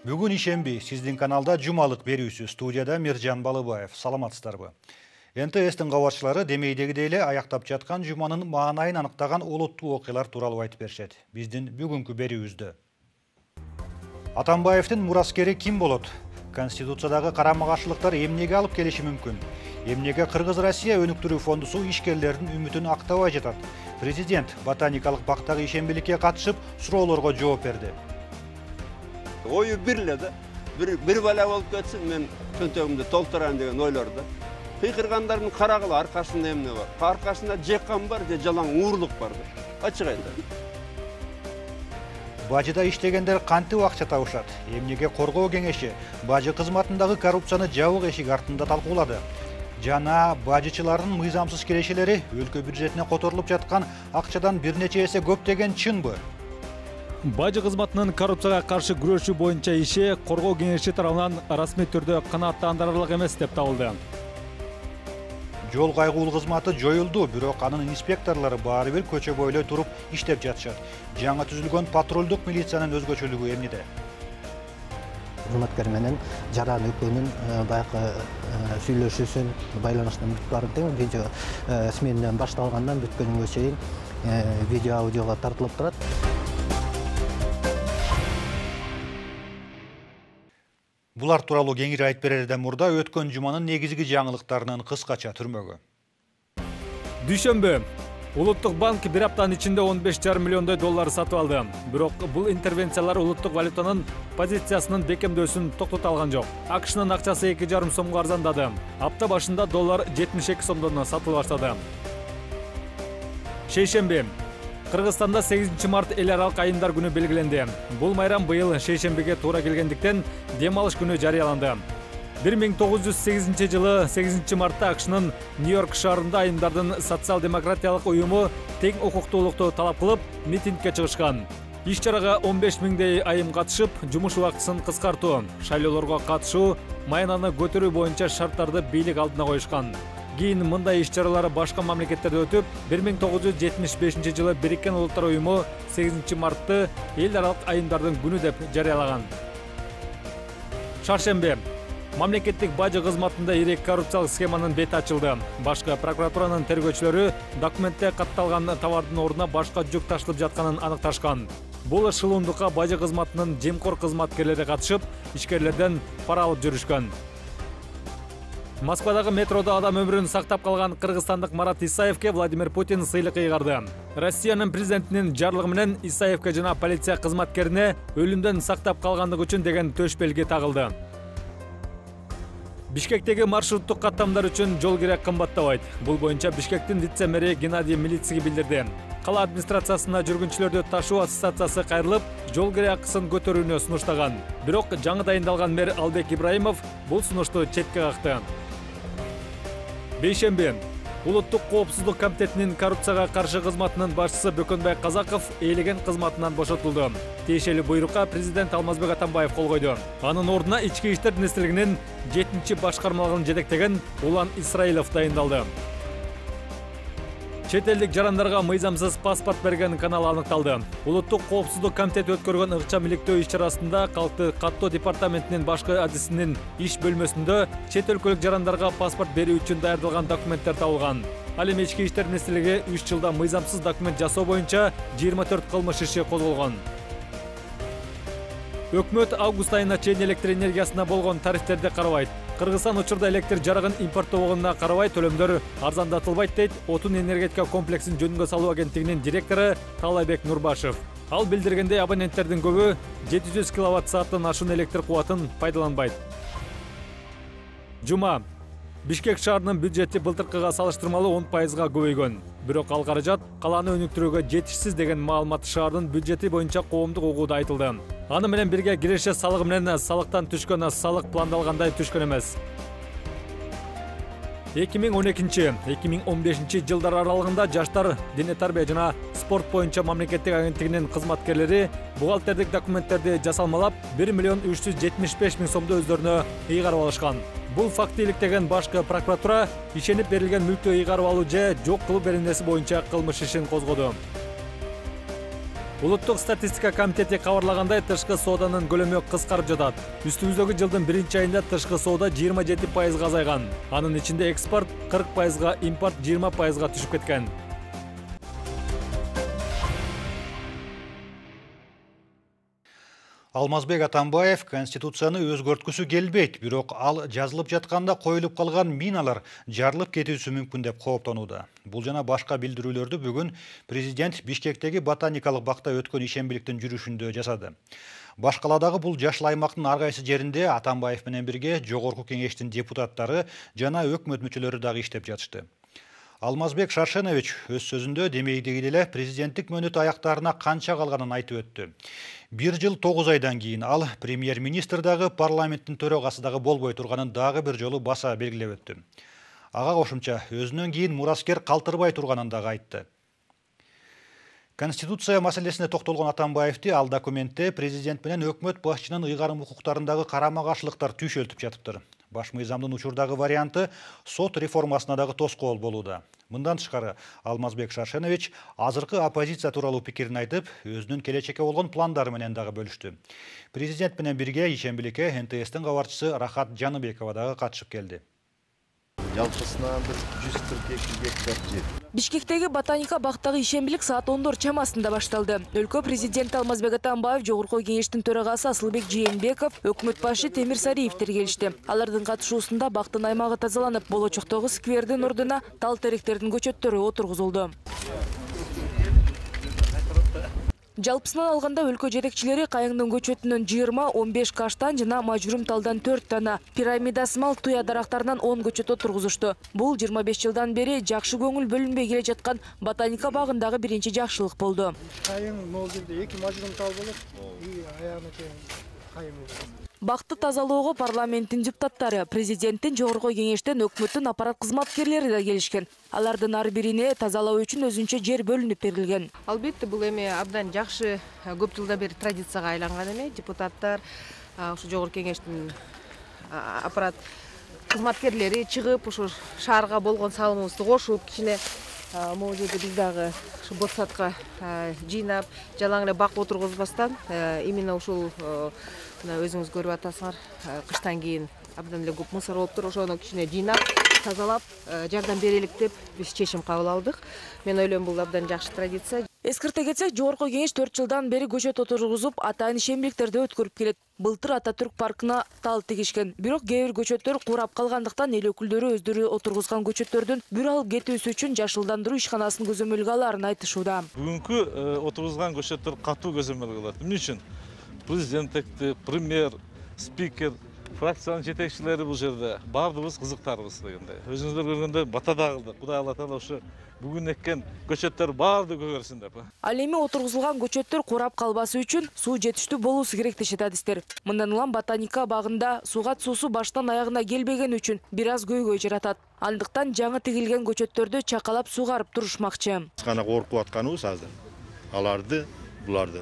Бүгүн ишемби сиздин каналда жумалык берүүсү, студияда Миржан Балыбаев. Саламатсыздарбы? НТС'тин кабарчылары демейдегидей эле аяктап жаткан жуманын маанайын аныктаган олуттуу окуялар тууралуу айтып беришет. Биздин бүгүнкү берүүбүздө. Атамбаевдин мураскери ким болот? Конституциядагы карама-каршылыктар эмнеге алып келиши мүмкүн? Эмнеге Кыргыз-Россия өнүктүрүү фондусу ишкерлердин үмүтүн актабай жатат? Президент ботаникалык бактагы ишембиликке катышып, суроолорго жооп берди. Ою бир эле да. Бир бала болуп кетсин, мен чөнтөгүмдү толтурайын деген ойлорду. Кыйкыргандардын карагыла аркасында эмне бар? Аркасында жеккан бар, же жалаң уурлук бар да. Ачык айтам. Бажыда иштегендер кантип акча табышат? Эмнеге коргоо кеңеши бажы кызматындагы коррупцияны жабык эшик артында талкуулады? Жана бажычылардын мыйзамсыз келишелери өлкө бюджетине которулуп жаткан акчадан бир нече эсе көп деген чынбы? Бажы кызматынын коррупцияга каршы күрөшүү боюнча иши коргоо кеңеши тарабынан расмий түрдө канааттандырарлык эмес деп табылды. Жол кайгуул кызматы жоюлду, бирок анын инспекторлору баары бир көчө бойлой туруп иштеп жатышат. Жаңы түзүлгөн патрулдук милициянын өзгөчөлүгү эмнеде? Кызматкер менен жаран экөөнүн баягы сүйлөшүүсүн, байланыштын бүтүп баарын тең видео сменадан башталгандан бүткөнүнгө чейин видео аудиого тартылып турат. Булар тууралуу кеңири айтып берерден мурда өткөн жуманын негизги жаңылыктарынын кыскача түрмөгү. Дүйшөмбү Улуттук банк бир аптанын ичинде 15,5 миллиондой доллар сатып алды. Бирок бул интервенциялар улуттук валютанын позициясынын бекемдөөсүн токтото алган жок. АКШнын акчасы 2,5 сомго арзандады. Апта башында доллар 72 сомдон сатылып баштады. Шейшемби Кыргызстанда 8 март эл аралык айымдар күнү белгиленди. Бул майрам быйыл шейшембиге туура келгендиктен дем алыш күнү жарыяланды. 1908 жылы 8 мартта АКШнын Нью-Йорк шаарында айымдардын социал-демократиялык уюму тең укуктуулукту талап кылып митингге чыгышкан. Иш-чарага 15 миңдей айым катышып, жумуш убактысын кыскартуу, шайлоолорго катышуу, маянаны көтөрүү боюнча шарттарды бийлик алдына коюшкан. Кийин мындай иш-чаралар башка мамлекеттерде өтүп, 1975 жылы Бириккен Улуттар уюму 8 мартты эл аралык айымдардын күнү деп жарыялаган. Шаршемби мамлекеттик бажы кызматында ирек коррупциялык схеманын бети ачылды. Башкы прокуратуранын тергөөчүлөрү документте катталган товардын ордуна башка жүк ташылып жатканын аныкташкан. Бул шылуундукка бажы кызматынын жемкор кызматкерлери катышып, ишкерлерден пара алып жүрүшкөн. Москвадагы метродо адам өмүрүн сактап калган кыргызстандык Марат Исаевке Владимир Путин сыйлык ыйгарды. Россиянын президентинин жарлыгы менен Исаевке жана полиция кызматкерине өлүмдөн сактап калгандыгы үчүн деген төш белги тагылды. Бишкектеги маршруттук каттамдар үчүн жол кирет кымбаттабайт. Бул боюнча Бишкектин вице-мэри Геннадий Милицкий билдирди. Кала администрациясына жүргүнчүлөрдү ташуу ассоциациясы кайрылып, жол кире акысын көтөрүүнү сунуштаган. Бирок жаңы дайындалган мэр Албек Ибраимов бул сунушту четке какты. Бейшемби Улуттук коопсуздук комитетинин коррупцияга каршы кызматынын башчысы Бөкөнбай Казаков ээлеген кызматынан бошотулду. Тиешелүү буйрукка президент Алмазбек Атамбаев кол койду. Анын ордуна Ички иштер министрлигинин 7-чи башкармалыгын жетектеген Улан Исраилов дайындалды. Чет элдик жарандарга мыйзамсыз паспорт берген канал аныкталды. Улуттук коопсуздук комитети өткөргөн ыкчам иликтөө иш-чарасында калкты каттоо департаментинин башкы адисинин иш бөлмөсүндө чет өлкөлүк жарандарга паспорт берүү үчүн даярдалган документтер табылган. Ал эми Ички иштер министрлиги 3 жылда мыйзамсыз документ жасоо боюнча 24 кылмыш иши козголгон. Өкмөт август айына чейин электр энергиясына болгон тарифтерди карабайт. Кыргызстан учурда электр жарыгын импорттоогонуна карабай төлөмдөр арзандатылбайт дейт Отун энергетика комплексин жөнүнгө салуу агенттигинин директору Талайбек Нурбашев. Ал билдиргендей, абоненттердин көбү 700 киловатт-сааттан ашуун электр кубатын пайдаланбайт. Жума Бишкек шаарынын бюджети былтыркыга салыштырмалуу 10%га көбөйгөн. Бирок ал каражат каланы өнүктүрүүгө жетишсиз деген маалымат шаардын бюджети боюнча коомдук угууда айтылды. Аны менен бирге киреше салыгы менен салыктан түшкөн салык пландалгандай түшкөн эмес. 2012-2015 жылдар аралыгында жаштар дене тарбия жана спорт боюнча мамлекеттик агенттигинин кызматкерлери бухгалтердик документтерди жасалмалап 1 миллион 375 миң сомду өздөрүнө ыйгарып алышкан. Бул факты иликтеген башкы прокуратура ишенип берилген мүлктү ыйгарып алуу же жок кылуу беренеси боюнча кылмыш ишин козгоду. Улуттук статистика комитети кабарлагандай, тышкы сооданын көлөмү кыскарып жатат. Үстүбүздөгү жылдын 1-айында тышкы соода 27% азайган. Анын ичинде экспорт 40%, импорт 20% түшүп кеткен. Алмазбек Атамбаев Конституцияны өзгөрткүсү келбейт, бирок ал жазылып жатканда коюлуп калган миналар жарылып кетүүсү мүмкүн деп кооптонууда. Бул жана башка билдирүүлөрдү бүгүн президент Бишкектеги ботаникалык бакта өткөн ишембиликтин жүрүшүндө жасады. Башкаладагы бул жашыл аймактын ар кайсы жеринде Атамбаев менен бирге Жогорку кеңештин депутаттары жана өкмөт мүчөлөрү дагы иштеп жатышты. Алмазбек Шаршенович өз сөзүндө демейдеги эле президенттик мөөнөт аяктарына канча калганын айтып өттү. 1 жыл 9 айдан кийин ал премьер-министр дагы парламенттин төрагасы дагы болбой турганын дагы бир жолу баса белгилеп өттү. Ага кошумча өзүнөн кийин мураскер калтырбай турганын дагы айтты. Конституция маселесине токтолгон Атамбаевди ал документте президент менен өкмөт башчынын ыйгарым укуктарындагы карама-каршылыктар түйшөлтүп жатыптыр. Баш мыйзамдын учурдагы варианты сот реформасына дагы тоскоол болууда. Мындан тышкары Алмазбек Шаршенович азыркы оппозиция тууралуу пикирин айтып, өзүнүн келечекке болгон пландары менен дагы бөлүштү. Президент менен бирге ишембиликке НТСтин кабарчысы Рахат Жаныбекова дагы катышып келди. Жалпысынан 142 гектар жер. Бишкектеги ботаника бактагы ишембилик саат 10 чамасында башталды. Өлкө президенти Алмазбек Атамбаев, Жогорку кеңештин төрагасы Асылбек Жээнбеков, өкмөт башы Темир Сариевтер келишти. Алардын катышуусунда бактын аймагы тазаланып, болочоктогу сквердин ордуна тал теректердин көчөттөрү отургузулду. Жалпысынан алганда өлкө жетекчилери кайыңдын көчөтүнөн 20-15 каштан жана мажурум талдан 4 дана, пирамидасымал туя дарактарынан 10 көчөт отургузушту. Бул 25 жылдан бери жакшы көңүл бөлүнбөй келе жаткан ботаника багындагы биринчи жакшылык болду. Кайың могул жерде 2 мажурум тал болот, аягына кайың болот. Бакты тазалоого парламенттин депутаттары, президенттин, Жогорку кеңештен, өкмөттүн аппарат кызматкерлери да келишкен. Алардын ар бирине тазалоо үчүн өзүнчө жер бөлүнүп берилген. Албетте бул эми абдан жакшы, көп жылдан бери традицияга айланган эме. Депутаттар, ушу Жогорку кеңештин аппарат кызматкерлери чыгып, ушу шаарга болгон салымыбызды кошуп, кичине могул жерде биз дагы ушу ботсадка жыйнап, жалаң эле бак отургузбастан, именно ушул өзүңүз көрүп атасыңар, кыштан кийин абдан эле көп мусор болуптур, ошону кичине жыйнап, тазалап, жардам берелик деп биз чечим кабыл алдык. Мен ойлойм, бул абдан жакшы традиция. Эскерте кетсек, Жогорку кеңеш 4 жылдан бери көчөт отургузуп, атайын ишембиликтерди өткөрүп келет. Былтыр Ататүрк паркына тал тигишкен. Бирок кээ бир көчөттөр курап калгандыктан эл өкүлдөрү өздөрү отургузган көчөттөрдүн бүр алып кетүүсү үчүн жашылдандыруу ишканасын көзөмөлгө алаарын айтышууда. Бүгүнкү отургузган көчөттөр катуу көзөмөл кылат. Эмне үчүн? Президент, премьер, спикер, фракциянын жетекчилери бул жерде баардыгыбыз кызыктарбыз дегенде. Өзүңүздөр көргөндөй батада кылдык. Кудай Алла таала ушу бүгүн эккен көчөттөр баардыгы көгөрсүн деп. Ал эми отургузулган көчөттөр курап калбасы үчүн суу жетиштүү болуусу керек дешет адистер. Мындан улам ботаника багында сугат суусу баштан аягына келбеген үчүн бир аз көйгөй жаратат. Андыктан жаңы тигилген көчөттөрдү чакалап сугарып турушмакчы. Гана коркуп атканыбыз азыр. Буларды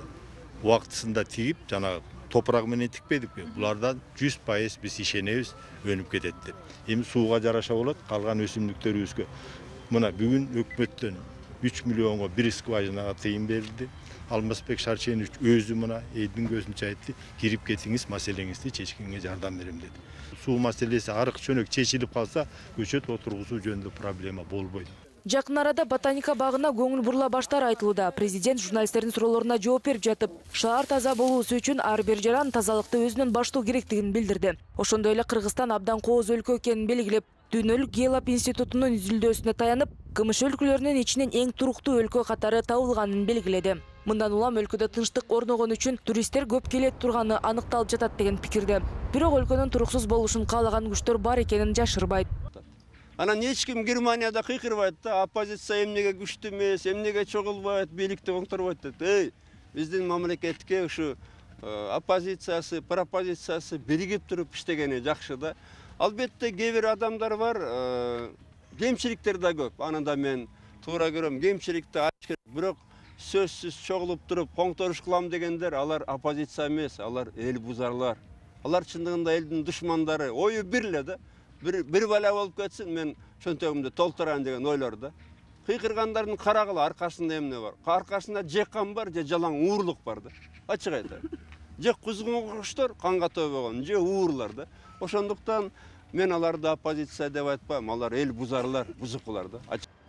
убактысында тигип, жана топурак менен тикпедикпи? Булардан 100% биз ишенебиз, өнүп кетет деп. Эми сууга жараша болот, калган өсүмдүктөрүбүзгө. Мына бүгүн өкмөттөн 3 миллионго бир скважинага тыйын берилди. Алмазбек Шаршенович өзү мына элдин көзүнчө айтты, кирип кетиңиз, маселеңизди чечкенге жардам берем деди. Суу маселеси арык чөнөк чечилип калса, көчөт отургузуу жөнүндө проблема болбойт. Жакын арада ботаника багына көңүл бурула баштары айтылууда. Президент журналисттердин суроолоруна жооп берип жатып, шаар таза болуусу үчүн ар бир жаран тазалыкты өзүнөн баштоо керектигин билдирди. Ошондой эле Кыргызстан абдан кооз өлкө экенин белгилеп, Дүйнөлүк Геолап институтунун изилдөөсүнө таянып, КМШ өлкөлөрүнүн ичинен эң туруктуу өлкө катары табылганын белгиледи. Мындан улам өлкөдө тынчтык орногон үчүн туристтер көп келет турганы аныкталып жатат деген пикирде. Бирок өлкөнүн туруксуз болушун каалаган күчтөр бар экенин жашырбайт. Анан эч ким Германияда кыйкырбайт да, оппозиция эмнеге күчтүү эмес, эмнеге чогулбайт, бийликти оңторбойт деп. Биздин мамлекетке ушу оппозициясы, пропозициясы биригип туруп иштегени жакшы да. Албетте кээ бир адамдар бар, кемчиликтер да көп. Аны да мен туура көрөм, кемчиликти ачык керек. Бирок сөзсүз чогулуп туруп коңторуш кылам дегендер, алар оппозиция эмес, алар эл бузарлар. Алар чындыгында элдин душмандары, ою бир эле да. Bir bala болуп кетсин, мен чөнтөгүмдү толтурайын деген ойлор да. кыйкыргандардын карагыла аркасында эмне бар? Аркасында жеккан бар же жалаң уурлук бар да. Ачык айтайын. Же кузгунгучтор канга тобогон, же уурлар да. Ошондуктан мен аларды оппозиция деп айтпайм, алар эл бузарлар, бузукулар да.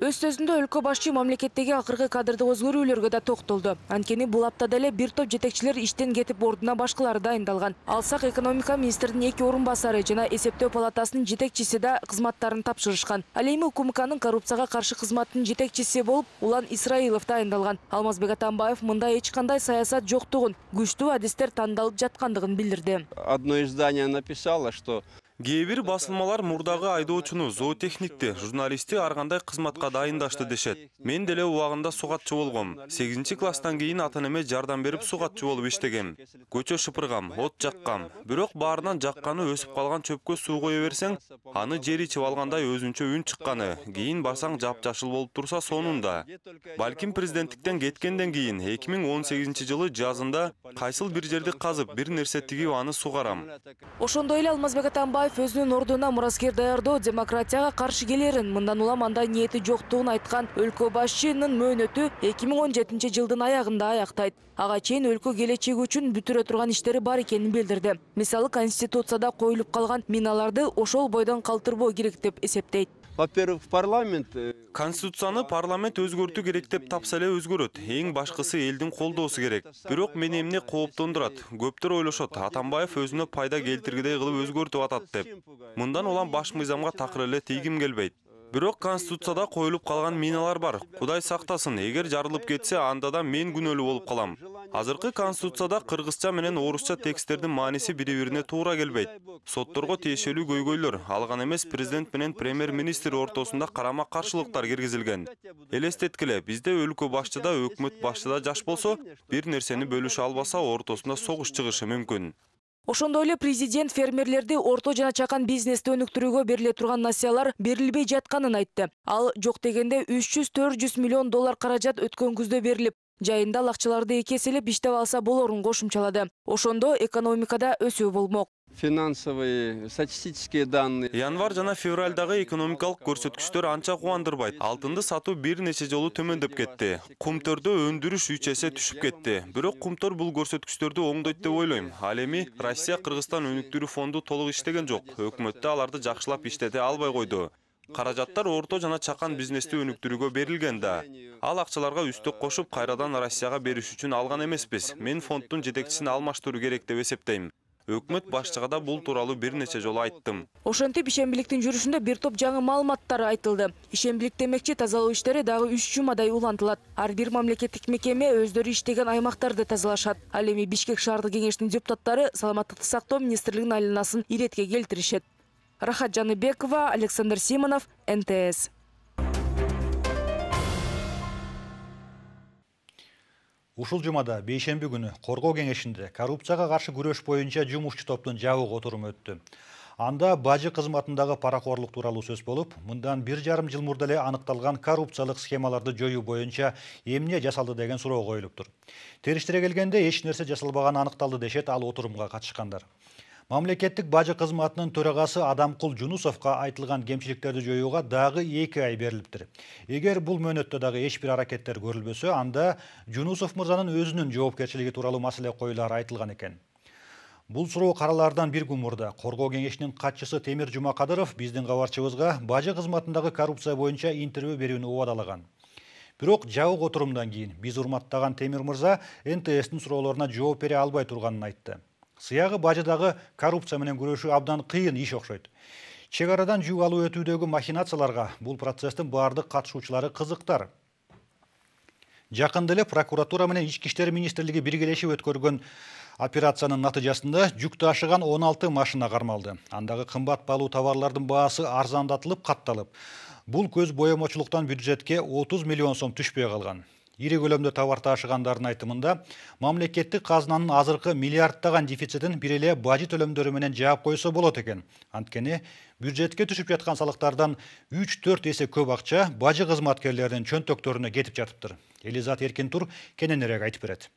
Өз сөзүндө өлкө башчы мамлекеттеги акыркы кадрдык өзгөрүүлөргө да токтолду. Анткени бул аптада эле бир топ жетекчилер иштен кетип ордуна башкалары дайындалган. Алсак экономика министринин 2 орун басары жана эсептөө палатасынын жетекчиси да кызматтарын тапшырышкан. Ал эми УКМКнын коррупцияга каршы кызматынын жетекчиси болуп Улан Исраилов дайындалган. Алмазбек Атамбаев мында эч кандай саясат жоктугун, күчтүү адистер тандалып жаткандыгын билдирди. Одно издание написало, что Кээ бир басылмалар мурдагы айдоочуну, зоотехникти, журналистти ар кандай кызматка дайындашты дешет. Мен деле убагында сугатчы болгом. 8-класстан кийин ата-энеме жардам берип сугатчы болуп иштегем. Көчө шыпыргам, от жаккам. Бирок баарынан жакканы өсүп калган чөпкө суу кое берсең, аны жер ичип алгандай өзүнчө үн чыкканы. Кийин барсаң жапжашыл болуп турса сонунда. Балким президенттиктен кеткенден кийин 2018-жылы жазында кайсыл бир жерди казып, бир нерсе тигип аны сугарам. Ошондой эле Алмазбек Атамбаев өзүнүн ордуна мураскер даярдоо демократияга каршы келерин, мындан улам андай ниети жоктугун айткан өлкө башчынын мөөнөтү 2017-жылдын аягында аяктайт. Ага чейин өлкө келечеги үчүн бүтүрө турган иштери бар экенин билдирди. Мисалы, Конституцияда коюлуп калган миналарды ошол бойдон калтырбоо керек деп эсептейт. Во-первых, парламент Конституцияны парламент өзгөртүү керек деп тапса эле өзгөрөт. Эң башкысы элдин колдоосу керек. Бирок мени эмне кооптондурат? Көптөр ойлошот, Атамбаев өзүнө пайда келтиргидей кылып өзгөртүп атат деп. Мындан улам баш мыйзамга такыр эле тийгим келбейт. Бирок Конституцияда коюлуп калган миналар бар. Кудай сактасын, эгер жарылып кетсе, анда да мен күнөөлүү болуп калам. Азыркы Конституцияда кыргызча менен орусча тексттердин мааниси бири-бирине туура келбейт. Сотторго тиешелүү көйгөйлөр, алган эмес президент менен премьер-министр ортосунда карама-каршылыктар киргизилген. Элестеткиле, бизде өлкө башчыда, өкмөт башчыда жаш болсо, бир нерсени бөлүшө албаса, ортосунда согуш чыгышы мүмкүн. Ошондой эле президент фермерлерди орто жана чакан бизнести өнүктүрүүгө бериле турган насыялар берилбей жатканын айтты. Ал жок дегенде 300-400 миллион доллар каражат өткөн күздө берилип, жайында ал акчаларды 2 эселеп иштеп алса болорун кошумчалады. Ошондо экономикада өсүү болмок. Финансовые, статистические данные. Январь жана февралдагы экономикалык көрсөткүчтөр анча кубандырбайт. Алтынды сатуу бир нече жолу төмөндөп кетти. Кумтөрдө өндүрүш 3 эсе түшүп кетти. Бирок кумтөр бул көрсөткүчтөрдү оңдойт деп ойлойм. Ал эми Россия Кыргызстан өнүктүрүү фонду толук иштеген жок. Өкмөттө аларды жакшылап иштете албай койду. Каражаттар орто жана чакан бизнести өнүктүрүүгө берилген да. Ал акчаларга үстөк кошуп, кайрадан Россияга бериш үчүн алган эмеспиз. Мен фонддун жетекчисин алмаштыруу керек деп эсептейм. Өкмөт башчыга да бул тууралуу бир нече жолу айттым. Ошентип ишембиликтин жүрүшүндө бир топ жаңы маалыматтар айтылды. Ишембилик демекчи тазалоо иштери дагы 3 жумадай улантылат. Ар бир мамлекеттик мекеме өздөрү иштеген аймактарды тазалашат. Ал эми Бишкек шаардык кеңештин депутаттары саламаттыкты сактоо министрлигинин айланасын иретке келтиришет. Рахат Жаныбекова, Александр Симонов, НТС. Ушул жумада бейшемби күнү Коргоо кеңешинде коррупцияга каршы күрөш боюнча жумушчу топтун жабык отуруму өттү. Анда бажы кызматындагы паракорлук тууралуу сөз болуп, мындан 1,5 жыл мурда эле аныкталган коррупциялык схемаларды жоюу боюнча эмне жасалды деген суроо коюлуптур. Териштире келгенде эч нерсе жасалбаганы аныкталды дешет ал отурумга катышкандар. Мамлекеттик бажы кызматынын төрагасы Адамкул Жунусовго айтылган кемчиликтерди жоюуга дагы 2 ай берилиптир. Эгер бул мөөнөттө дагы эч бир аракеттер көрүлбөсө, анда Жунусов мырзанын өзүнүн жоопкерчилиги тууралуу маселе коюлары айтылган экен. Бул суроо каралаардан бир күн мурда Коргоо кеңешинин катчысы Темир Жумакадыров биздин кабарчыбызга бажы кызматындагы коррупция боюнча интервью берүүнү убадалаган. Бирок жабык отурумдан кийин биз урматтаган Темир мырза НТСтин суроолоруна жооп бере албай турганын айтты. Сыягы бажыдагы коррупция менен күрөшүү абдан кыйын иш окшойт. Чек арадан жүк алуу өтүүдөгү махинацияларга бул процесстин бардык катышуучулары кызыктар. Жакында эле прокуратура менен Ички иштер министрлиги биргелешип өткөргөн операциянын натыйжасында жүк ташыган 16 машина кармалды. Андагы кымбат баалуу товарлардын баасы арзандатылып, катталып. Бул көз боемочулуктан бюджетке 30 миллион сом түшпөй калган. Ири көлөмдө товар ташыгандардын айтымында, мамлекеттик казынанын азыркы миллиарддаган дефицитин бир эле бажы төлөмдөрү менен жаап койсо болот экен. Анткени бюджетке түшүп жаткан салыктардан 3-4 эсе көп акча бажы кызматкерлеринин чөнтөктөрүнө кетип жатыптыр. Элизат Эркинтур кененирээк айтып берет.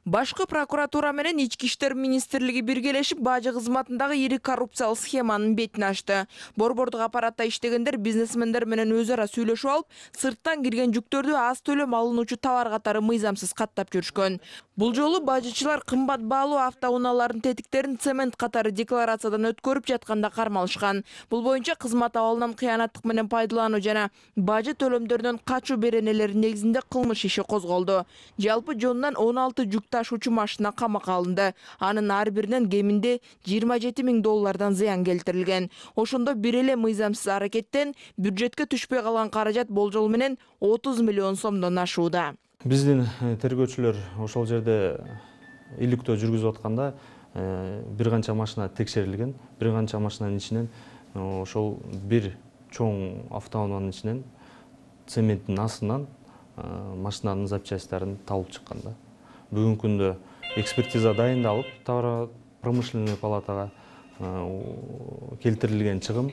Башкы прокуратура менен Ички иштер министрлиги биргелешип бажы кызматындагы ири коррупциялык схеманын бетин ачты. Борбордук аппаратта иштегендер бизнесмендер менен өз ара сүйлөшүп алып, сырттан кирген жүктөрдү аз төлөм алынуучу товар катары мыйзамсыз каттап жүрүшкөн. Бул жолу бажычылар кымбат баалуу автоунаалардын тетиктерин цемент катары декларациядан өткөрүп жатканда кармалышкан. Бул боюнча кызмат абалынан кыянаттык менен пайдалануу жана бажы төлөмдөрүнөн качуу беренелери негизинде кылмыш иши козголду. Жалпы жонунан 16 жүк ташуучу машина камакка алынды. Анын ар биринен кеминде $27.000 зыян келтирилген. Ошондо бир эле мыйзамсыз аракеттен бюджетке түшпөй калган каражат болжол менен 30 миллион сомдон ашууда. Биздин тергөөчүлөр ошол жерде иликтөө жүргүзүп атканда бир канча машина текшерилген. Бир канча машинанын ичинен ошол бир чоң автоунаанын ичинен цементтин астынан машинанын запчастьтарын табылып чыккан да. Бүгүнкү күндө экспертиза дайындалып, товар промышленный палатага келтирилген чыгым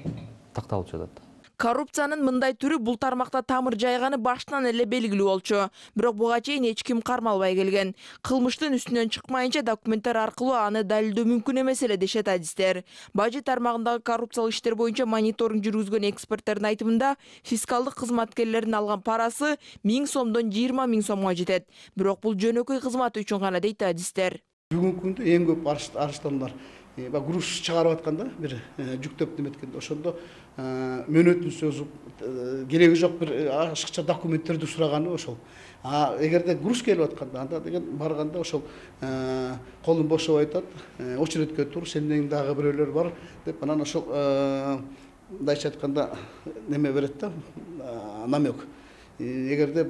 такталып жатат. Коррупциянын мындай түрү бул тармакта тамыр жайганы баштан эле белгилүү болчу. Бирок буга чейин эч ким кармалбай келген. Кылмыштын үстүнөн чыкмайынча документтер аркылуу аны далилдөө мүмкүн эмес эле дешет адистер. Бажы тармагындагы коррупциялык иштер боюнча мониторинг жүргүзгөн эксперттердин айтымында, фискалдык кызматкерлердин алган парасы 1000 сомдон 20 000 сомго жетет. Бирок бул жөнөкөй кызмат үчүн гана дейт адистер. Бүгүнкү күндө эң көп арыштануулар груз чыгарып атканда бир жүктөп неметкенде ошондо мөөнөтүн созуп кереги жок бир ашыкча документтерди сураганы ошол. Эгерде груз келип атканда анда деген барганда ошол колун бошоп айтат, очередке тур, сенден дагы бирөөлөр бар деп анан ошол мындайча айтканда неме берет да, намек. Эгерде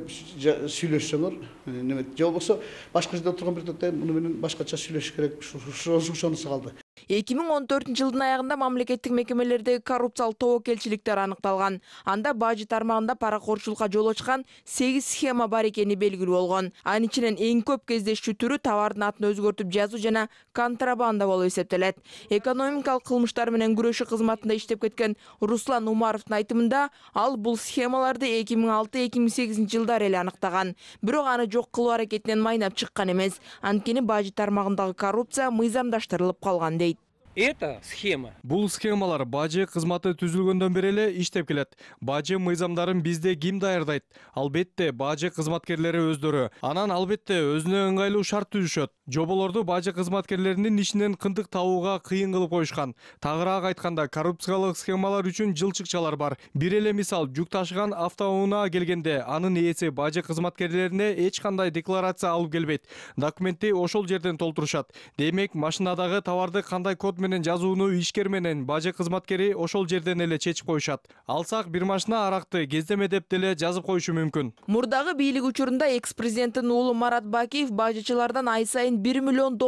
сүйлөшсөңөр, неме же болбосо башка жерде отурган бир тотта муну менен башкача сүйлөшүш керек, ошонусу калды. 2014 жылдын аягында мамлекеттик мекемелердеги коррупциялык тобокелчиликтер аныкталган. Анда бажы тармагында паракорчулукка жол ачкан 8 схема бар экени белгилүү болгон. Анын ичинен эң көп кездешчү түрү товардын атын өзгөртүп жазуу жана контрабанда болуп эсептелет. Экономикалык кылмыштар менен күрөшүү кызматында иштеп кеткен Руслан Умаровдун айтымында, ал бул схемаларды 2006-2008 жылдары эле аныктаган. Бирок аны жок кылуу аракетинен майнап чыккан эмес. Анткени бажы тармагындагы коррупция мыйзамдаштырылып калган дейт. Это схема. Бул схемалар бажы кызматы түзүлгөндөн бери эле иштеп келет. Бажы мыйзамдарын бизде ким даярдайт? Албетте бажы кызматкерлери өздөрү. Анан албетте өзүнө ыңгайлуу шарт түзүшөт. Жоболорду бажы кызматкерлеринин ишинен кындык табууга кыйын кылып коюшкан. Тагыраак айтканда, коррупциялык схемалар үчүн жылчыкчалар бар. Бир эле мисал, жүк ташыган автоунаа келгенде анын ээси бажы кызматкерлерине эч кандай декларация алып келбейт. Документти ошол жерден толтурушат. Демек, машинадагы товарды кандай код менен жазууну ишкер менен бажы кызматкери ошол жерден эле чечип коюшат. Алсак бир машина аракты кездеме деп деле жазып коюшу мүмкүн. Мурдагы бийлик учурунда экс-президенттин уулу Марат Бакиев бажычылардан ай сайын $1 миллион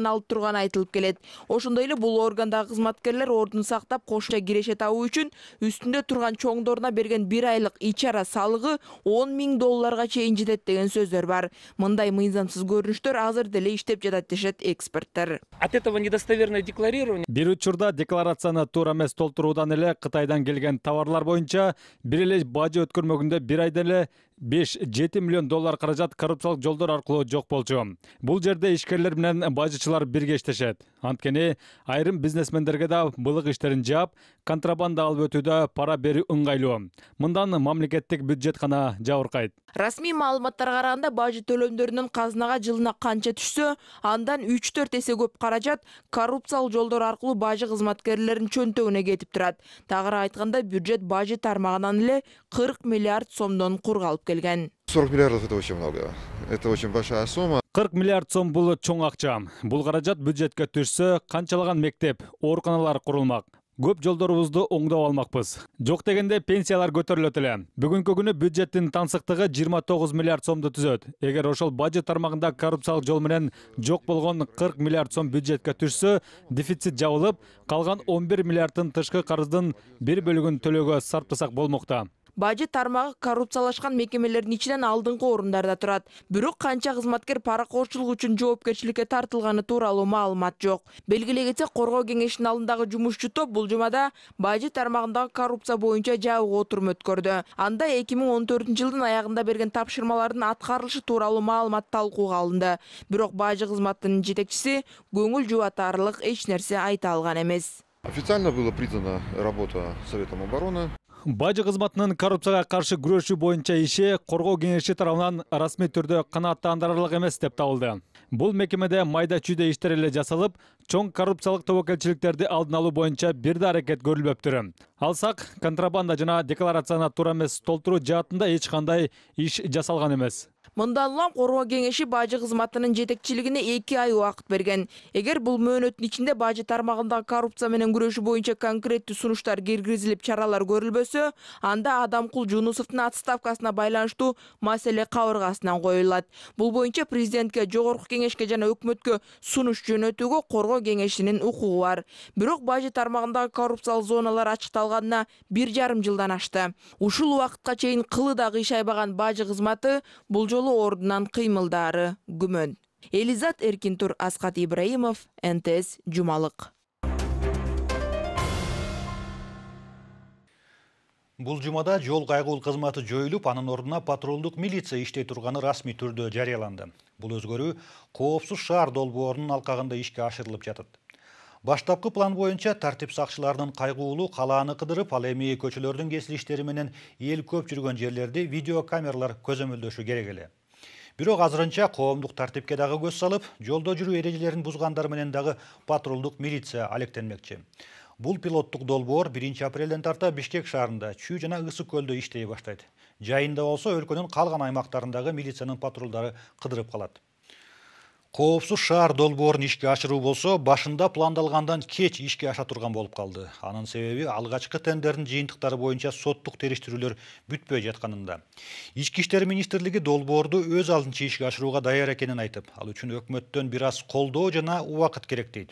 алып турганы айтылып келет. Ошондой эле бул органдагы кызматкерлер ордун сактап кошумча киреше табуу үчүн үстүндө турган чоңдоруна берген 1 айлык ичара салыгы $10 000 чейин жетет деген сөздөр бар. Мындай мыйзамсыз көрүнүштөр азыр деле иштеп жатат дешет эксперттер. От этого недостоверное декларирование. Бир учурда декларацияны туура эмес толтуруудан эле Кытайдан келген товарлар боюнча бир эле бажы өткөрмөгүндө бир айда эле $5-7 миллион каражат коррупциялык жолдор аркылуу жок болчу. Бул жерде ишкерлер менен бажычылар бирге иштешет. Анткени айрым бизнесмендерге да былык иштерин жаап, контрабанда алып өтүүдө пара берүү ыңгайлуу. Мындан мамлекеттик бюджет гана жабыркайт. Расмий маалыматтарга караганда бажы төлөмдөрүнүн казынага жылына канча түшсө, андан 3-4 эсе көп каражат коррупциялык жолдор аркылуу бажы кызматкерлеринин чөнтөгүнө кетип турат. Тагыраак айтканда, бюджет бажы тармагынан эле 40 миллиард сомдон кургалып келген. 40 миллиардов это очень много. Это очень большая сумма. 40 миллиард сом бул чоң акча. Бул каражат бюджетке түшсө, канчалаган мектеп, ооруканалар курулмак. Көп жолдорубузду оңдоп алмакпыз. Жок дегенде пенсиялар көтөрүлөт эле. Бүгүнкү күнү бюджеттин тансыктыгы 29 миллиард сомду түзөт. Эгер ошол бажы тармагында коррупциялык жол менен жок болгон 40 миллиард сом бюджетке түшсө, дефицит жабылып, калган 11 миллиардтын тышкы карыздын бир бөлүгүн төлөөгө сарптасак болмокта. бажы тармагы коррупциялашкан мекемелердин ичинен алдыңкы орундарда турат. Бирок канча кызматкер паракорчулук үчүн жоопкерчиликке тартылганы тууралуу маалымат жок. Белгилей кетсек, коргоо кеңешинин алдындагы жумушчу топ бул жумада бажы тармагындагы коррупция боюнча жабык отурум өткөрдү. Анда 2014-жылдын аягында берген тапшырмалардын аткарылышы тууралуу маалымат талкууга алынды. Бирок бажы кызматынын жетекчиси көңүл жубатарлык эч нерсе айта алган эмес. Официально была признана работа Советом обороны. Бажы кызматынын коррупцияга каршы күрөшүү боюнча иши коргоо кеңеши тарабынан расмий түрдө канааттандырарлык эмес деп табылды. Бул мекемеде майда чүйдө иштер эле жасалып, чоң коррупциялык тобокелчиликтерди алдын алуу боюнча бир да аракет көрүлбөптүр. Алсак, контрабанда жана декларацияны туура эмес толтуруу жаатында эч кандай иш жасалган эмес. Мындан улам коргоо кеңеши бажы кызматынын жетекчилигине 2 ай убакыт берген. Эгер бул мөөнөттүн ичинде бажы тармагындагы коррупция менен күрөшүү боюнча конкреттүү сунуштар киргизилип, чаралар көрүлбөсө, анда Адамкул Жунусовдун отставкасына байланыштуу маселе кабыргасынан коюлат. Бул боюнча президентке, жогорку кеңешке жана өкмөткө сунуш жөнөтүүгө коргоо кеңешинин укугу бар. Бирок бажы тармагындагы коррупциялык зоналар ачыкталганына 1,5 жылдан ашты. Ушул убакытка чейин кылы да кыйшайбаган бажы кызматы бул жолу ордунан кыймылдары күмөн. Элизат Эркинтур, Аскат Ибраимов, НТС Жумалык. Бул жумада жол кайгыл кызматы жоюлуп, анын ордуна патрулдук милиция иштей турганы расмий түрдө жарыяланды. Бул өзгөрүү коопсуз шаар долбоорунун алкагында ишке ашырылып жатат. Баштапкы план боюнча тартип сакчыларынын кайгуулуу калааны кыдырып, ал эми көчөлөрдүн кесилиштери менен эл көп жүргөн жерлерди видеокамералар көзөмөлдөшү керек эле. Бирок азырынча коомдук тартипке дагы көз салып, жолдо жүрүү эрежелерин бузгандар менен дагы патрулдук милиция алектенмекчи. Бул пилоттук долбоор 1 апрелден тарта Бишкек шаарында, Чүй жана Ысык көлдө иштей баштайт. Жайында болсо өлкөнүн калган аймактарындагы милициянын патрулдары кыдырып калат. Коопсуз шаар долбоорун ишке ашыруу болсо, башында пландалгандан кеч ишке аша турган болуп калды. Анын себеби алгачкы тендердин жыйынтыктары боюнча соттук териштирүүлөр бүтпөй жатканында. Ички иштер министрлиги долбоорду өз алдынча ишке ашырууга даяр экенин айтып, ал үчүн өкмөттөн бир аз колдоо жана убакыт керек дейт.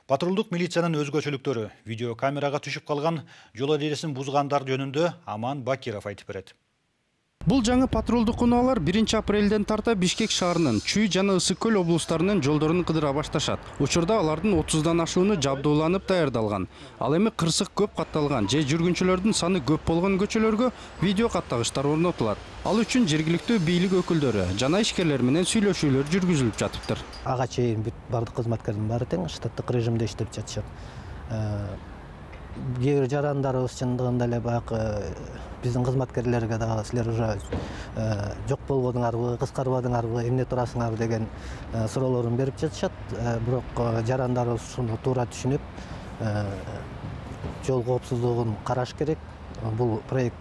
Патрулдук милициянын өзгөчөлүктөрү видеокамерага түшүп калган жол эрежесин бузгандар жөнүндө Аман Бакиров айтып берет. Бул жаңы патрулдук унаалар 1 апрелден тарта Бишкек шаарынын Чүй жана Ысык көл облустарынын жолдорун кыдыра башташат. Учурда алардын 30дан ашууну жабдууланып даярдалган. Ал эми кырсык көп катталган же жүргүнчүлөрдүн саны көп болгон көчөлөргө видео каттагычтар орнотулат. Ал үчүн жергиликтүү бийлик өкүлдөрү жана ишкерлер менен сүйлөшүүлөр жүргүзүлүп жатыптыр. Ага чейин бардык кызматкердин баары тең штаттык режимде иштеп жатышат. Кээ бир жарандарыбыз чындыгында эле баягы биздин кызматкерлерге дагы силер уже жок болгонуңарбы, кыскарбадыңарбы, эмне турасыңар деген суроолорун берип жатышат. Бирок жарандарыбыз ушуну туура түшүнүп, жол коопсуздугун караш керек. Бул проект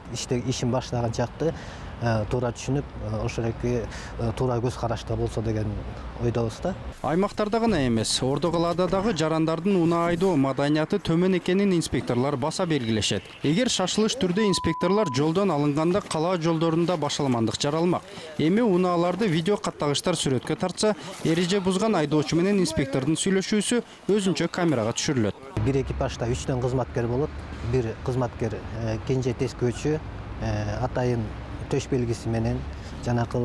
ишин баштаган жакты туура түшүнүп, ошолеки туура көз карашта болсо деген ойдобуз да. Аймактарда гана эмес, Ордо калаада дагы жарандардын унаа айдоо маданияты төмөн экенин инспекторлор баса белгилешет. Эгер шашылыш түрдө инспекторлор жолдон алынганда калаа жолдорунда башаламандык жаралмак. Эми унааларды видео каттагычтар сүрөткө тартса, эреже бузган айдоочу менен инспектордун сүйлөшүүсү өзүнчө камерага түшүрүлөт. Бир экипажда 3 кызматкер болот. Бир кызматкер кенже тескөөчү, атайын төш белгиси менен жанакы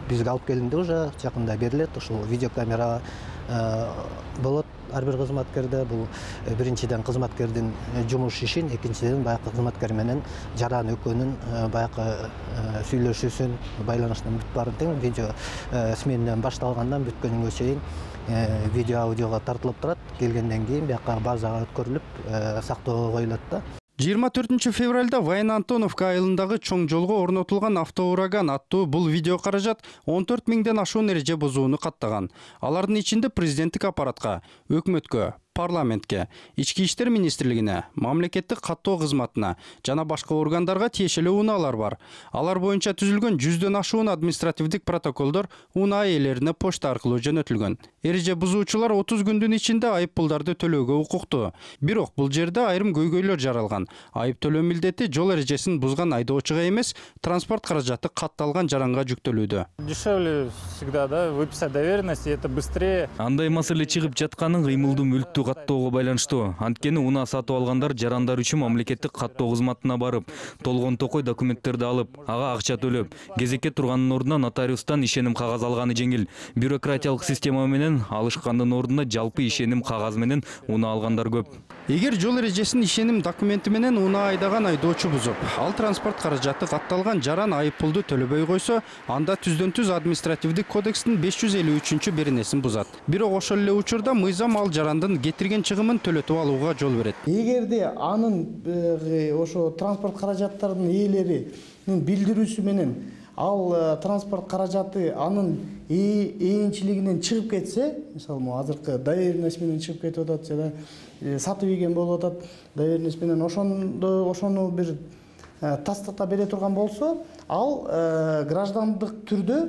бизге алып келинди, уже жакында берилет. Ушул видеокамера болот ар бир кызматкерде. Бул биринчиден кызматкердин жумуш ишин, экинчиден баягы кызматкер менен жаран экөөнүн баягы сүйлөшүүсүн, байланыштын бүт баарын тең видео сменадан башталгандан бүткөнүнгө чейин видео аудиого тартылып турат. Келгенден кийин бияка базага өткөрүлүп сактоого коюлат да. 24 февралда Вайна Антоновка айылындагы чоң жолго орнотулган автоураган аттуу бул видео каражат 14 миңден ашуун эреже бузууну каттаган. Алардын ичинде президенттик аппаратка, өкмөткө, парламентке, ички иштер министрлигине, мамлекеттик каттоо кызматына жана башка органдарга тиешелүү унаалар бар. Алар боюнча түзүлгөн 100дөн ашуун административдик протоколдор унаа ээлерине почта аркылуу жөнөтүлгөн. Эреже бузуучулар 30 күндүн ичинде айып пулдарды төлөөгө укуктуу. Бирок бул жерде айрым көйгөйлөр жаралган. Айып төлөө милдети жол эрежесин бузган айдоочуга эмес, транспорт каражаты катталган жаранга жүктөлүүдө. Дешевле всегда, да, выписать доверенность, и это быстрее. Андай маселе чыгып жатканын кыймылдуу мүлктү каттоого байланыштуу. Анткени унаа сатып алгандар жарандар үчүн мамлекеттик каттоо кызматына барып, толгон токой документтерди алып, ага акча төлөп, кезекке турганын ордуна нотариустан ишеним кагаз алганы жеңил. Бюрократиялык система менен алышкандын ордуна жалпы ишеним кагазы менен унаа алгандар көп. Эгер жол эрежесин ишеним документи менен унаа айдаган айдоочу бузуп, ал транспорт каражаты катталган жаран айып пулду төлөбөй койсо, анда түздөн-түз административдик кодекстин 553-беренесин бузат. Бирок ошол эле учурда мыйзам ал жарандын кетирген чыгымын төлөтүп алууга жол берет. Эгерде анын ошо транспорт каражаттарынын ээлеринин билдирүүсү менен ал транспорт каражаты анын ээнчилигинен чыгып кетсе, мисалы азыркы доверенность менен чыгып кетип атат жана сатып ийген болуп атат, доверенность менен ошону бир тастата бере турган болсо, ал граждандык түрдө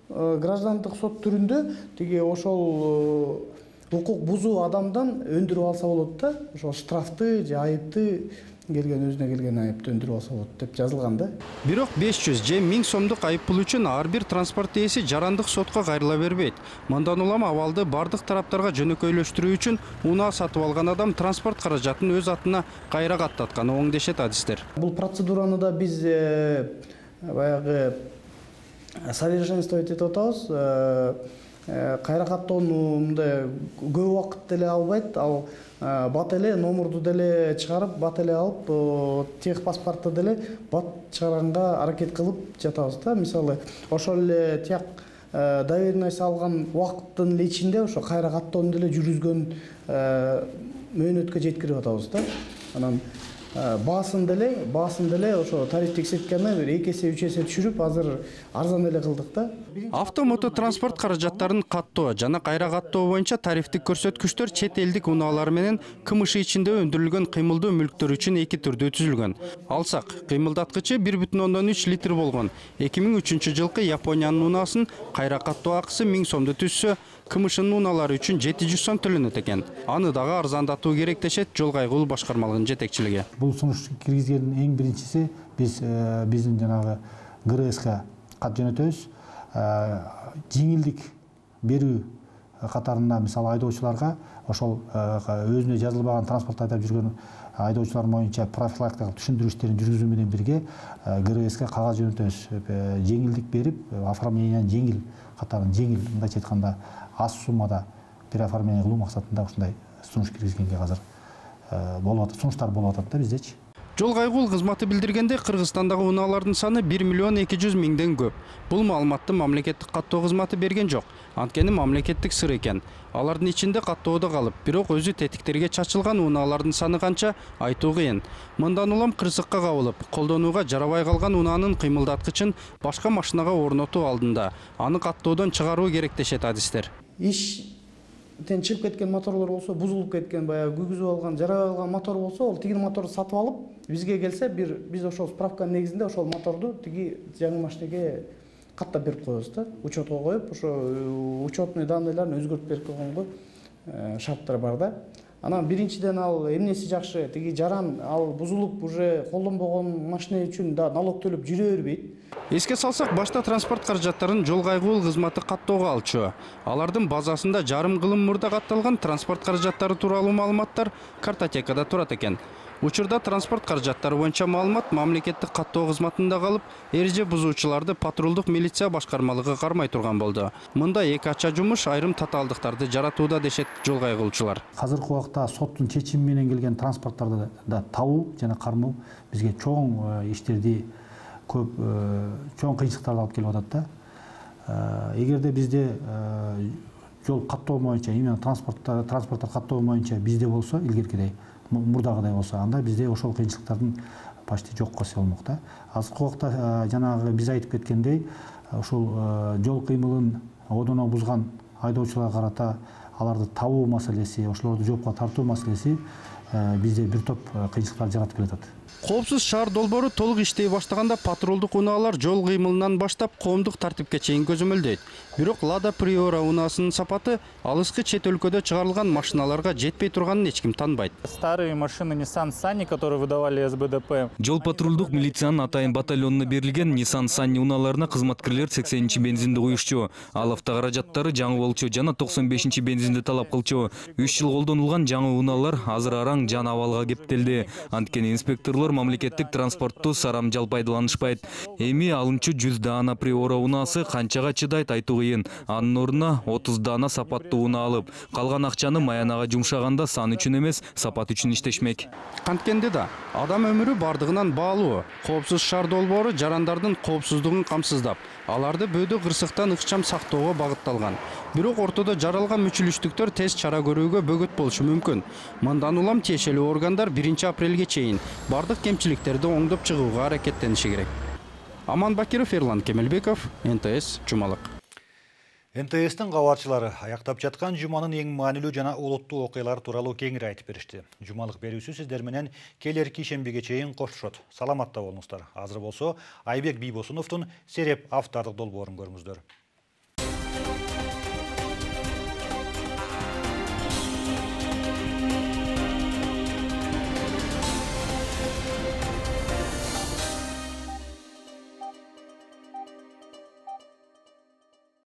граждандык сот түрүндө тиги ошол укук бузуу адамдан өндүрүп алса болот да, ошол штрафты же айыпты өзүнө келген айыпты өндүрүп алса болот деп жазылган да. Бирок 500 же 1000 сомдук айып пул үчүн ар бир транспорт ээси жарандык сотко кайрыла бербейт. Мындан улам абалды бардык тараптарга жөнөкөйлөштүрүү үчүн унаа сатып алган адам транспорт каражатын өз атына кайра каттатканы оң дешет адистер. Бул процедураны да биз баягы совершенствовать этип атабыз. Кайра каттоону мындай көп убакыт деле албайт. Ал бат эле номурду деле чыгарып, бат эле алып, тех паспортто деле бат чыгарганга аракет кылып жатабыз да. Мисалы, ошол эле тияк доверенность алган убакыттын эле ичинде ошо кайра каттоону деле жүргүзгөн мөөнөткө жеткирип атабыз да. Анан баасын деле ошо тариф текшерткенде 2 эсе 3 эсе түшүрүп, азыр арзан эле кылдык да. Автомототранспорт каражаттарын каттоо жана кайра каттоо боюнча тарифтик көрсөткүчтөр чет элдик унаалар менен КМШ ичинде өндүрүлгөн кыймылдуу мүлктөр үчүн 2 түрдүү түзүлгөн. Алсак, кыймылдаткычы 1,3 литр болгон 2003 жылкы Япониянын унаасын кайра каттоо акысы 1000 сомду түзсө, КМШнын унаалары үчүн 700 сом төлөнөт экен. Аны дагы арзандатуу керек дешет Жол кайгылуу башкармалыгынын жетекчилиги. Бул сунуш киргизгендин эң биринчиси биздин жанагы ГРСК кат жөнөтөбүз. Жеңилдик берүү катарында мисалы айдоочуларга ошол өзүнө жазылбаган транспорт айдап жүргөн айдоочулар боюнча профилактикалык түшүндүрүү иштерин жүргүзүү менен бирге ГРСК кагаз жөнөтөбүз. Жеңилдик берип, оформлениянын жеңил катарын жеңил, мындайча айтканда аз суммада переоформление кылуу максатында ушундай сунуш киргизгенге азыр болуп атат, сунуштар болуп атат да бизде. Жол кайгылуу кызматы билдиргенде Кыргызстандагы унаалардын саны 1,2 миллион көп. Бул маалыматты мамлекеттик каттоо кызматы берген жок. Анткени мамлекеттик сыр экен. Алардын ичинде каттоодо калып, бирок өзү тетиктерге чачылган унаалардын саны канча айтуу кыйын. Мындан улам кырсыкка кабылып, колдонууга жарабай калган унаанын кыймылдаткычын башка машинага орнотуу алдында аны каттоодон чыгаруу керек дешет адистер. Чыгып кеткен моторлор болсо, бузулуп кеткен, баягы күйгүзүп алган, жарабай калган мотор болсо, ол тиги моторду сатып алып, бизге келсе, биз ошол справканын негизинде ошол моторду тиги жаңы машинеге каттап берип коебуз да. Учетко коюп, ошо учетный данныйларын өзгөртүп берип койгонго шарттар бар да. Анан биринчиден ал эмнеси жакшы, тиги жаран ал бузулуп уже колдонбогон машина үчүн да налог төлөп жүрө бербейт. Эске салсак, башта транспорт каражаттарын Жол кайгылуу кызматы каттоого алчу. Алардын базасында жарым кылым мурда катталган транспорт каражаттары тууралуу маалыматтар картотекада турат экен. Учурда транспорт каражаттары боюнча маалымат мамлекеттик каттоо кызматында калып, эреже бузуучуларды патрулдук милиция башкармалыгы кармай турган болду. Мында эки ача жумуш айрым татаалдыктарды жаратууда дешет жол кайгылуучулар. Азыркы убакта соттун чечими менен келген транспорттарды да табуу жана кармоо бизге чоң иштерди көп чоң кыйынчылыктарды алып келип атат да. Эгерде бизде жол каттоо боюнча, именно транспорттар каттоо боюнча бизде болсо, илгеркидей мурдагыдай болсо, анда бизде ошол кыйынчылыктардын почти жок десе болмок да. Азыркы убакта жанагы биз айтып кеткендей, ушул жол кыймылын одоно бузган айдоочуларга карата аларды табуу маселеси, ошолорду жоопко тартуу маселеси бизде бир топ кыйынчылыктар жаратып келатат. Коопсуз шаар долбоору толук иштей баштаганда патрулдук унаалар жол кыймылынан баштап коомдук тартипке чейин көзөмөлдөйт. Бирок Лада Приора унаасынын сапаты алыскы чет өлкөдө чыгарылган машиналарга жетпей турганын эч ким танбайт. Старые машины Nissan Sunny, которые выдавали СБДП. Жол патрулдук милициянын атайын батальонуна берилген Nissan Sunny унааларына кызматкерлер 80-чи бензинди куюшчу. Ал автокаражаттары жаңы болчу жана 95-чи бензинди талап кылчу. 3 жыл колдонулган жаңы унаалар азыр араң жана абалга кептелди. Анткени инспекторлор мамлекеттик транспортту сарамжал пайдаланышпайт. Эми алынчу 100 даана Приора унаасы канчага чыдайт айтуу кыйын. Анын ордуна 30 даана сапаттуу унаа алып, калган акчаны маянага жумшаганда сан үчүн эмес, сапат үчүн иштешмек. Канткенде да адам өмүрү бардыгынан баалуу. Коопсуз шаар долбоору жарандардын коопсуздугун камсыздап, аларды бөөдө кырсыктан ыкчам сактоого багытталган. Бирок ортодо жаралган мүчүлүштүктөр тез чара көрүүгө бөгөт болушу мүмкүн. Мындан улам тиешелүү органдар 1-апрелге чейин бардык кемчиликтерди оңдоп чыгууга аракеттениши керек. Аман Бакиров, Ерлан Кемелбеков, НТС, Жумалык. НТС'тин кабарчылары аяктап жаткан жуманын эң маанилүү жана олуттуу окуялары тууралуу кеңири айтып беришти. Жумалык берүүсү сиздер менен келерки ишембиге чейин коштошот. Саламатта болуңуздар. Азыр болсо Айбек Бийбосуновдун Сереп автордук долбоорун көрүңүздөр.